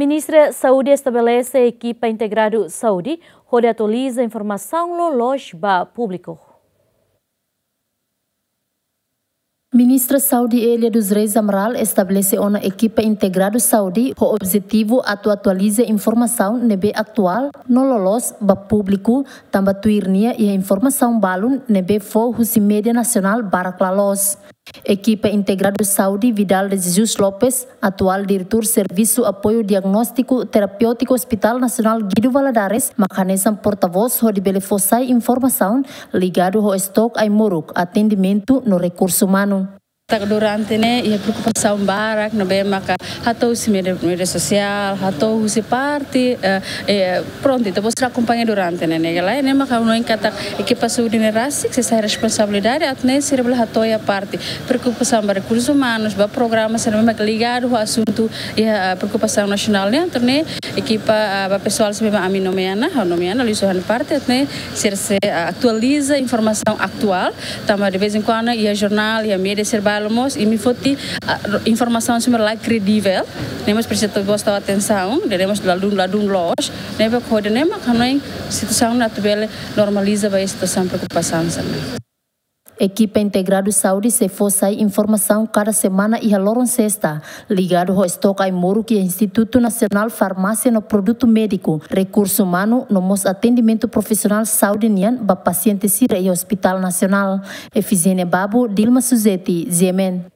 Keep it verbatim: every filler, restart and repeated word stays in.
Ministra Saúde estabelese ekipa integradu saúde hodi atualiza informasaun loloos ba públiku. Ministra Saúde Elia dos Reis Amaral estabelese ona ekipa integradu saúde ho objetivu atu atualiza informasaun ne'ebé atuál no loloos ba públiku, tanba tuir nia iha informasaun balun ne'ebé fó husi média nasionál barak la loos. Ekipa integradu saúde Vidal de Jesus Lopes, atuál diretór Servisu Apoiu Diagnóstiku Terapéutiku Hospital Nasionál Guido Valadares, mak hanesan portavós hodi bele fó sai informasaun ligadu ho estoke ai-moruk, atendimentu no rekursu umanu. Durante ne'e iha preokupasaun barak ne'ebé maka hato'o husi média, média sosiál, hato'o husi parte, eh, eh, prontu, ita-boot sira akompaña durante ne'e, ne'e ka lae, ne'e maka hanoin katak ekipa saúde ne'e rasik sei sai responsabilidade atu nune'e sira bele hato'o iha parte preokupasaun ba rekursus umanus, ba programa sira ne'ebé maka ligadu ho asuntu iha, eh, preokupasaun nasionál nian, entaun ne'e ekipa, eh, ba pesoál sira ne'ebé ami nomeia ona, ha'u nomeia ona, liuhusi ha'u-nia parte, atu nune'e sira sei, eh, atualiza informasaun atuál, tanba de vez em quando iha jornál, iha média sira balu mós, imi foti, ah, informasaun sira ne'ebé la kredivel, ne'e mós presiza ita-boot tau atensaun, de ne'e mós ladún, ladún loos, ne'ebé hodi nune'e mak hanoin situasaun ne'e atu bele normaliza ba iha situasaun preokupasaun sira ne'e. Ekipa integradu saúde sei fó sai informasaun kada semana iha loron sesta, ligadu ho estoke ai-moruk iha Institutu Nasionál Farmásia no Produtu Médiku, rekursu umanu no mós atendimentu profisionál saúde nian ba pasiente sira iha Hospital Nasionál. Efizénia Babu, Dilma Suzeti, G M N.